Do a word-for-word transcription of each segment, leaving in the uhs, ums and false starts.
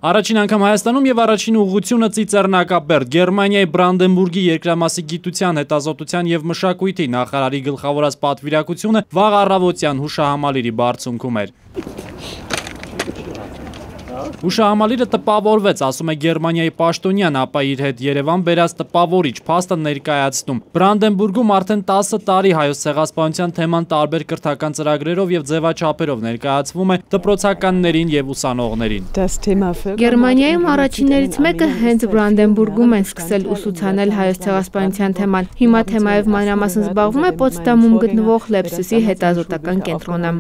Առաջին անգամ Հայաստանում եւ առաջին ուղղությունը Ծիծեռնակապերտ Գերմանիայի Բրանդենբուրգի երկրամասի գիտության, հետազոտության եւ մշակույթի նախարարի գլխավորած պատվիրակությունը վաղ առավոտյան հուշահամալիրի բարձունքում էր։ Հուշահամալիրը տպավորվեց, ասում է Գերմանիայի պաշտոնյան, ապա իր հետ Երևան բերած տպավորիչ փաստը ներկայացնում։ Բրանդենբուրգում արդեն տասը տարի հայոց ցեղասպանության թեման տարբեր կրթական ծրագրերով եւ ձևաչափերով ներկայացվում է դպրոցականներին եւ ուսանողներին։ Գերմանիայում առաջիններից մեկը հենց Բրանդենբուրգում են սկսել ուսուցանել հայոց ցեղասպանության թեման։ Հիմա թեմայով մանրամասն զբաղվում է Պոտսդամում գտնվող Լեպսիսի հետազոտական կենտրոնը։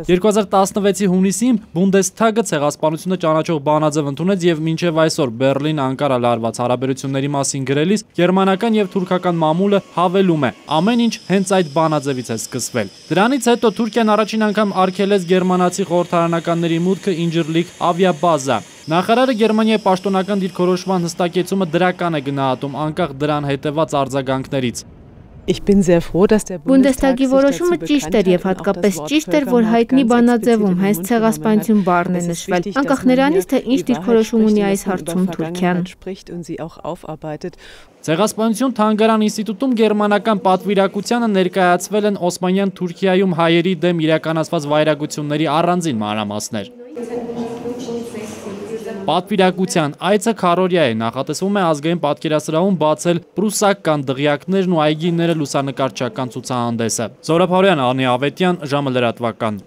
երկու հազար տասնվեցի հունիսին Բունդեսթագը ցեղասպանությունը ճանաչող բանաձև ընդունեց եւ մինչեւ այսօր Բերլին-Անկարա լարված հարաբերությունների մասին գրելիս գերմանական եւ թուրքական մամուլը հավելում է. ամեն ինչ հենց այդ բանաձևից է սկսվել։ Դրանից հետո Թուրքիան առաջին անգամ արգելեց գերմանացի խորհրդարանականների մուտքը Ինջիրլիկ ավիաբազա։ Նախարարը Գերմանիայի պաշտոնական դիրքորոշման հստակեցումը դրական է գնահատում անկախ դրան հետևած արձագանքներից։ Բունդեսթագի որոշումը ճիշտ էր եւ հատկապես ճիշտ էր, որ հայտնի բանաձևում հենց ցեղասպանություն բառն է նշվել, անկախ նրանից, թե ինչ դիրքորոշում ունի այս հարցում Թուրքիան։ Ցեղասպանություն թանգարան ինստիտուտում գերմանական պատվիրակությանը ներկայացվել են Օսմանյան Թուրքիայում հայերի դեմ իրականացված վայրագությունների առանձին մանրամասներ։ Պատվիրակության այցը քառօրյա է, նախատեսվում է ազգային պատկերասրահում բացել պրուսական դղյակներն ու այգիները լուսանկարչական ցուցահանդեսը։ Զորապ Հարոյան, Անի Ավետյան, ժամը լրատվական։